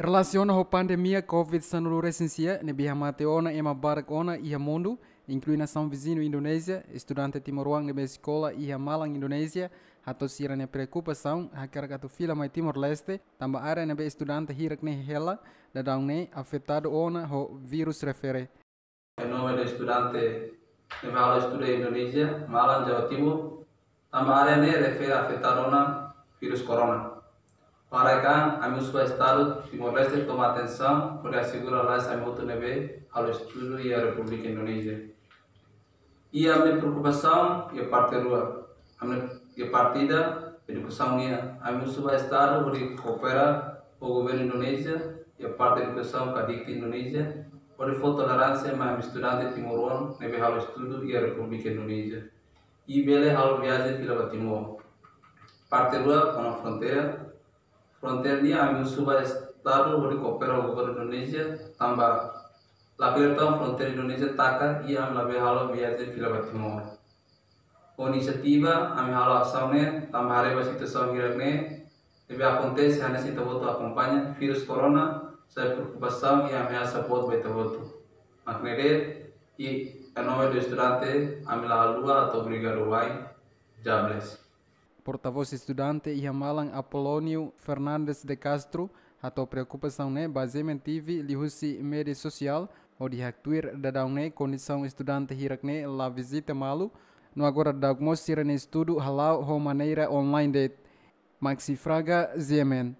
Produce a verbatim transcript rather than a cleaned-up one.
Relasiona ho pandemia covid sanulu resin sia ne'ebé hamate ona ema barak ona iha mundu, inklui nasaun viziñu Indonézia, estudante timoroan ne'ebé eskola iha malan Indonézia, hato'o sira-nia preokupasaun hakarak atu fila mai Timor-Leste, tanba área ne'ebé estudante hirak ne'e hela daudaun ne'e afetadu ona ho vírus refere. Em nome do estudante ne'ebé halo estudu iha Indonézia, malan Jawa Timur, tanba área ne'e refere afetadu ona vírus corona. Para kan, ami husu ba Estadu Timor-Leste toma atensaun, hodi asegura lalais ami hotu ne'ebé halo estudu iha Repúblika Indonézia. Iha ami-nia preokupasaun iha parte rua. Ami iha parte ida, edukasaun nian. Ami husu ba Estadu hodi koopera ho governu Indonézia iha parte edukasaun ka dikti Indonézia, hodi fó toleránsia mai ami estudante timoroan ne'ebé halo estudu iha Repúblika Indonézia. I bele halo viajen fila ba Timor. Parte rua, kona-ba fronteira. Fronteira nian ami husu ba Estadu hodi koopera ho governu Indonézia, tanba lakleur tan fronteira Indonézia taka i ami labele halo viajen fila ba Timor. Ho inisiativa ami halo asaun ne'e, tanba haree ba situasaun hirak ne'e ne'ebé akontese hanesan ita hotu akompaña, vírus corona sai preokupasaun i ameasa boot ba ita hotu. Mak ne'e de'it, i em nome do estudante, ami la haluha hato'o obrigadu wa'in, God bless. Portavós estudante iha malan Apolónio Fernandes de Castro hato'o preokupasaun ne'e ba GMN T V liuhusi média sosiál, hodi haktuir daudaun ne'e kondisaun estudante hirak ne'e la vizita malu, no agora daudauk mós sira-nia estudu hala'o ho maneira online de'it. Maxi Fraga, GMN.